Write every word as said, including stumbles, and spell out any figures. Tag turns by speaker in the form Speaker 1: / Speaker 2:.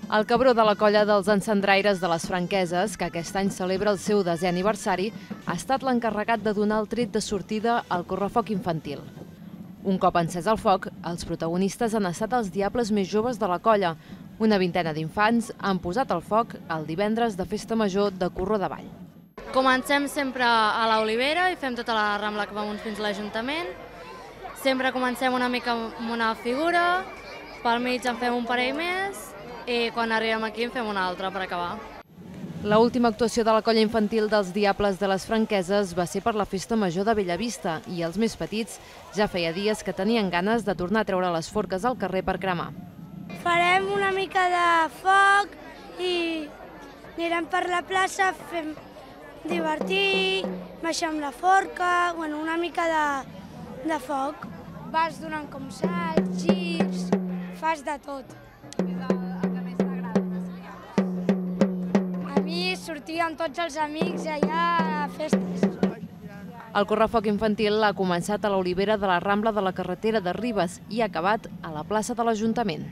Speaker 1: El cabró de la colla dels encendraires de les Franqueses, que aquest any celebra el seu desè aniversari, ha estat l'encarregat de donar el tret de sortida al correfoc infantil. Un cop encès el foc, els protagonistes han estat els diables més joves de la colla. Una vintena d'infants han posat el foc el divendres de Festa Major de Corró de Vall.
Speaker 2: Comencem sempre a l'Olivera i fem tota la rambla que va fins a l'Ajuntament. Sempre comencem una mica amb una figura, pel mig en fem un parell més i quan arribem aquí en fem una altra per acabar.
Speaker 1: L'última actuació de la colla infantil dels Diables de les Franqueses va ser per la Festa Major de Bellavista i els més petits ja feia dies que tenien ganes de tornar a treure les forques al carrer per cremar.
Speaker 3: Farem una mica de foc i anirem per la plaça, fem divertir, baixem la forca, bueno, una mica de, de foc. Vas donant com salts, girs, fas de tot. A mi sortir amb tots els amics allà a festes.
Speaker 1: El correfoc infantil ha començat a l'Olivera de la Rambla de la carretera de Ribes i ha acabat a la plaça de l'Ajuntament.